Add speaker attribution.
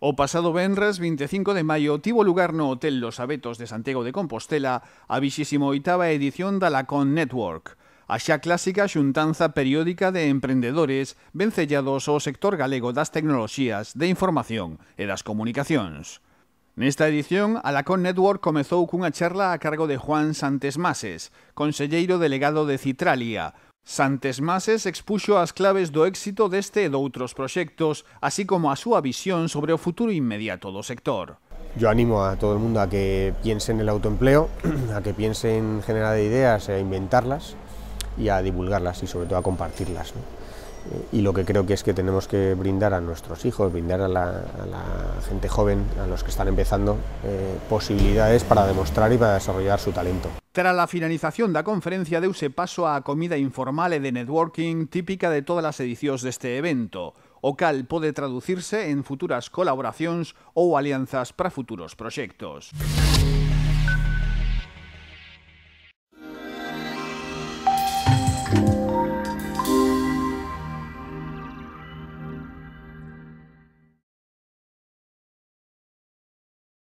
Speaker 1: O pasado venres 25 de maio tivo lugar no Hotel Los Abetos de Santiago de Compostela a 28ª edición da Lacon Network, a xa clásica xuntanza periódica de emprendedores vencellados ao sector galego das tecnoloxías, de información e das comunicacións. Nesta edición, a Lacon Network comezou cunha charla a cargo de Juan Santesmases, conselleiro delegado de Citralia. Santesmases expuxo as claves do éxito deste e doutros proxectos, así como a súa visión sobre o futuro inmediato do sector.
Speaker 2: Yo animo a todo el mundo a que piense en el autoempleo, a que piense en generar ideas, a inventarlas y a divulgarlas y sobre todo a compartirlas, ¿no? Y lo que creo que es que tenemos que brindar a nuestros hijos, brindar a la gente joven, a los que están empezando, posibilidades para demostrar y para desarrollar su talento.
Speaker 1: Tras a finalización da conferencia deuse paso á comida informal e de networking típica de todas as edicións deste evento, o cal pode traducirse en futuras colaboracións ou alianzas para futuros proxectos.